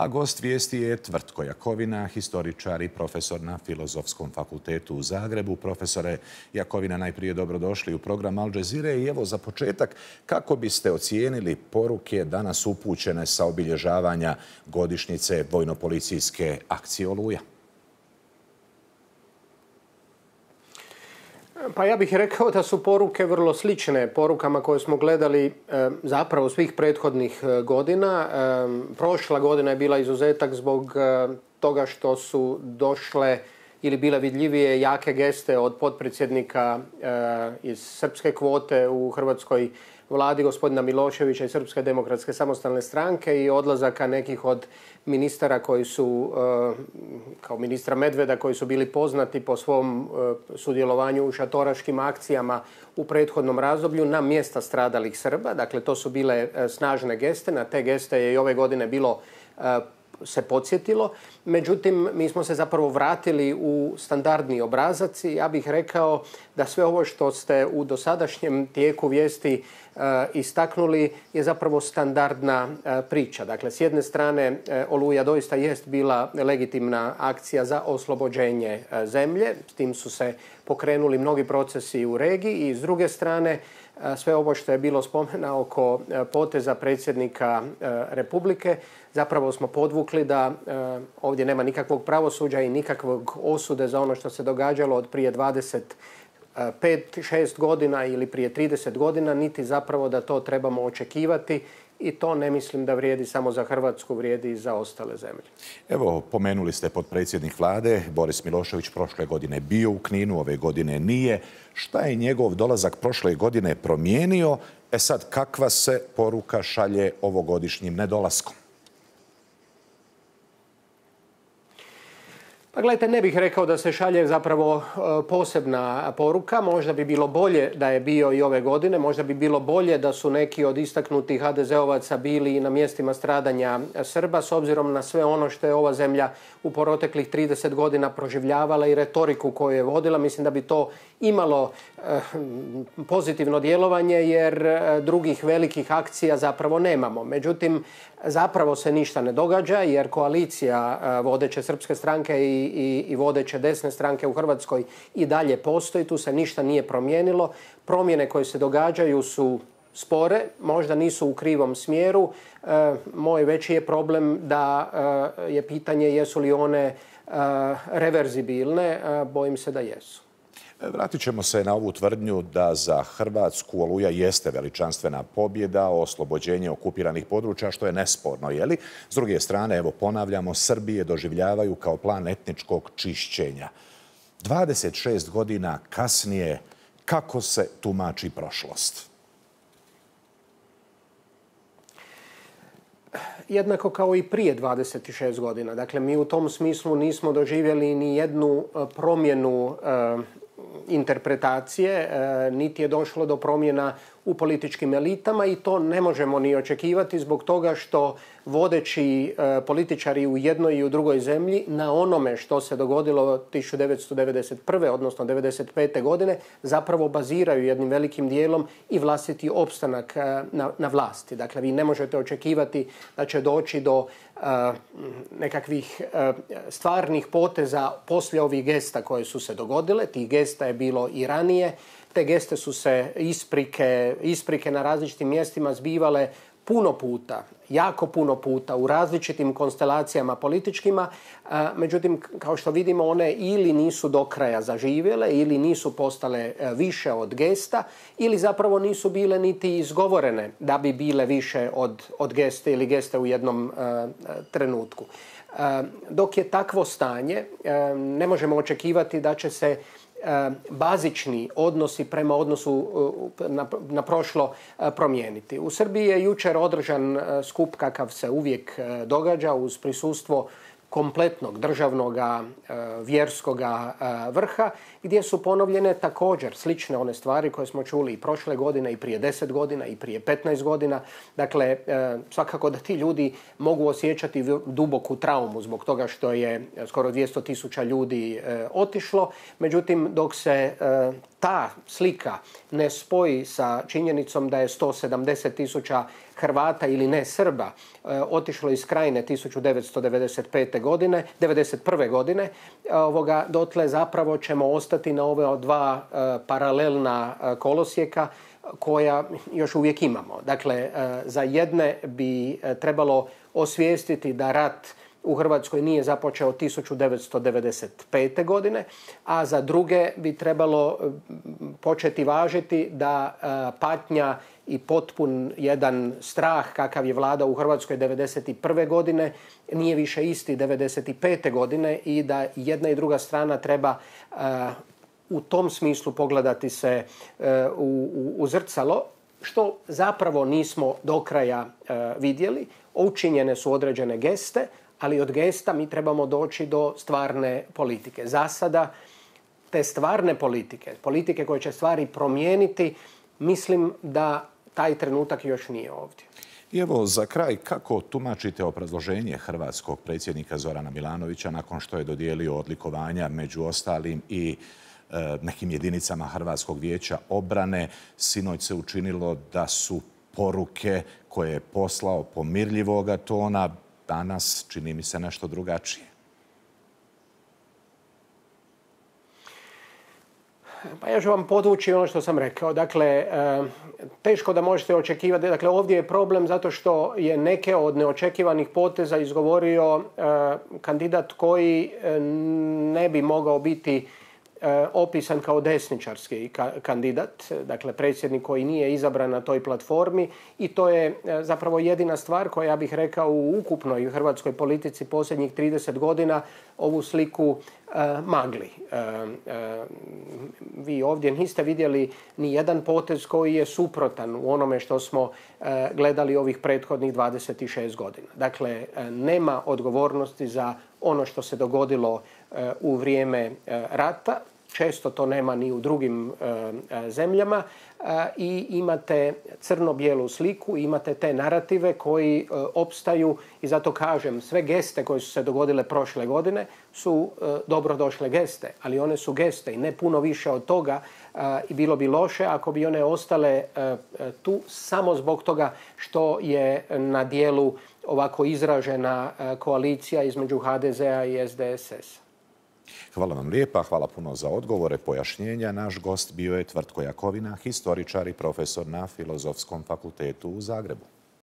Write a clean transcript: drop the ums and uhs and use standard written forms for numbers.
A gost vijesti je Tvrtko Jakovina, historičar i profesor na Filozofskom fakultetu u Zagrebu. Profesore Jakovina, najprije dobrodošli u program Al Jazeere. I evo za početak, kako biste ocijenili poruke danas upućene sa obilježavanja godišnjice vojno-policijske akcije Oluja? Pa ja bih rekao da su poruke vrlo slične porukama koje smo gledali zapravo svih prethodnih godina. Prošla godina je bila izuzetak zbog toga što su došle ili bile vidljivije jake geste od potpredsjednika iz srpske kvote u hrvatskoj vladi, gospodina Miloševića i Srpske demokratske samostalne stranke, i odlazaka nekih od ministara koji su, kao ministra Medveda, koji su bili poznati po svom sudjelovanju u šatoraškim akcijama u prethodnom razdoblju na mjesta stradalih Srba. Dakle, to su bile snažne geste. Na te geste je i ove godine bilo se podsjetilo. Međutim, mi smo se zapravo vratili u standardni obrazac i ja bih rekao da sve ovo što ste u dosadašnjem tijeku vijesti istaknuli je zapravo standardna priča. Dakle, s jedne strane Oluja doista jest bila legitimna akcija za oslobođenje zemlje. S tim su se pokrenuli mnogi procesi u regiji i s druge strane sve ovo što je bilo spomena oko poteza predsjednika Republike, zapravo smo podvukli da ovdje nema nikakvog pravosuđa i nikakvog osude za ono što se događalo od prije 25-6 godina ili prije 30 godina, niti zapravo da to trebamo očekivati. I to ne mislim da vrijedi samo za Hrvatsku, vrijedi i za ostale zemlje. Evo, pomenuli ste potpredsjednik vlade, Boris Milošević, prošle godine bio u Kninu, ove godine nije. Šta je njegov dolazak prošle godine promijenio? Sad, kakva se poruka šalje ovogodišnjim nedolaskom? Pa gledajte, ne bih rekao da se šalje zapravo posebna poruka. Možda bi bilo bolje da je bio i ove godine. Možda bi bilo bolje da su neki od istaknutih HDZ-ovaca bili i na mjestima stradanja Srba, s obzirom na sve ono što je ova zemlja u proteklih 30 godina proživljavala i retoriku koju je vodila. Mislim da bi to imalo pozitivno djelovanje, jer drugih velikih akcija zapravo nemamo. Međutim, zapravo se ništa ne događa, jer koalicija vodeće srpske stranke i vodeće desne stranke u Hrvatskoj i dalje postoji. Tu se ništa nije promijenilo. Promjene koje se događaju su spore, možda nisu u krivom smjeru. Moj veći je problem da je pitanje jesu li one reverzibilne. Bojim se da jesu. Vratit ćemo se na ovu tvrdnju da za Hrvatsku Oluja jeste veličanstvena pobjeda, oslobođenje okupiranih područja, što je nesporno, je li? S druge strane, evo ponavljamo, Srbije doživljavaju kao plan etničkog čišćenja. 26 godina kasnije, kako se tumači prošlost? Jednako kao i prije 26 godina. Dakle, mi u tom smislu nismo doživjeli ni jednu promjenu interpretacije, niti je došlo do promjena u političkim elitama, i to ne možemo ni očekivati zbog toga što vodeći političari u jednoj i u drugoj zemlji na onome što se dogodilo 1991. odnosno 1995. godine zapravo baziraju jednim velikim dijelom i vlastiti opstanak na vlasti. Dakle, vi ne možete očekivati da će doći do nekakvih stvarnih poteza poslije ovih gesta koje su se dogodile. Tih gesta je bilo i ranije. Te geste su se isprike na različitim mjestima zbivale puno puta, jako puno puta u različitim konstelacijama političkima. Međutim, kao što vidimo, one ili nisu do kraja zaživjele, ili nisu postale više od gesta, ili zapravo nisu bile niti izgovorene da bi bile više od geste ili geste u jednom trenutku. Dok je takvo stanje, ne možemo očekivati da će se bazični odnosi prema odnosu na prošlo promijeniti. U Srbiji je jučer održan skup kakav se uvijek događa uz prisustvo kompletnog državnog vjerskog vrha, gdje su ponovljene također slične one stvari koje smo čuli i prošle godine i prije 10 godina i prije 15 godina. Dakle, svakako da ti ljudi mogu osjećati duboku traumu zbog toga što je skoro 200.000 ljudi otišlo. Međutim, dok se ta slika ne spoji sa činjenicom da je 170.000 Hrvata ili ne Srba otišlo iz Krajine 1991. godine, dotle zapravo ćemo ostati na ove dva paralelna kolosijeka koja još uvijek imamo. Dakle, za jedne bi trebalo osvijestiti da rat u Hrvatskoj nije započeo 1995. godine, a za druge bi trebalo početi važiti da patnja i potpun jedan strah kakav je vladao u Hrvatskoj 1991. godine nije više isti 1995. godine i da jedna i druga strana treba u tom smislu pogledati se u zrcalo, što zapravo nismo do kraja vidjeli. Učinjene su određene geste, ali od gesta mi trebamo doći do stvarne politike. Za sada te stvarne politike koje će stvari promijeniti, mislim da taj trenutak još nije ovdje. I evo za kraj, kako tumačite obrazloženje hrvatskog predsjednika Zorana Milanovića nakon što je dodijelio odlikovanja među ostalim i nekim jedinicama Hrvatskog vijeća obrane? Sinoć se učinilo da su poruke koje je poslao pomirljivoga tona, danas čini mi se nešto drugačije. Pa ja ću vam podvući ono što sam rekao. Dakle, teško da možete očekivati. Dakle, ovdje je problem zato što je neke od neočekivanih poteza izgovorio kandidat koji ne bi mogao biti opisan kao desničarski kandidat, dakle predsjednik koji nije izabran na toj platformi, i to je zapravo jedina stvar koja, ja bih rekao, u ukupnoj hrvatskoj politici posljednjih 30 godina ovu sliku magli. Vi ovdje niste vidjeli ni jedan potez koji je suprotan u onome što smo gledali ovih prethodnih 26 godina. Dakle, nema odgovornosti za ono što se dogodilo u vrijeme rata. Često to nema ni u drugim zemljama i imate crno-bijelu sliku, imate te narative koji opstaju i zato kažem, sve geste koje su se dogodile prošle godine su dobrodošle geste, ali one su geste i ne puno više od toga, i bilo bi loše ako bi one ostale tu samo zbog toga što je na dijelu ovako izražena koalicija između HDZ-a i SDSS-a. Hvala vam lijepa, hvala puno za odgovore, pojašnjenja. Naš gost bio je Tvrtko Jakovina, historičar i profesor na Filozofskom fakultetu u Zagrebu.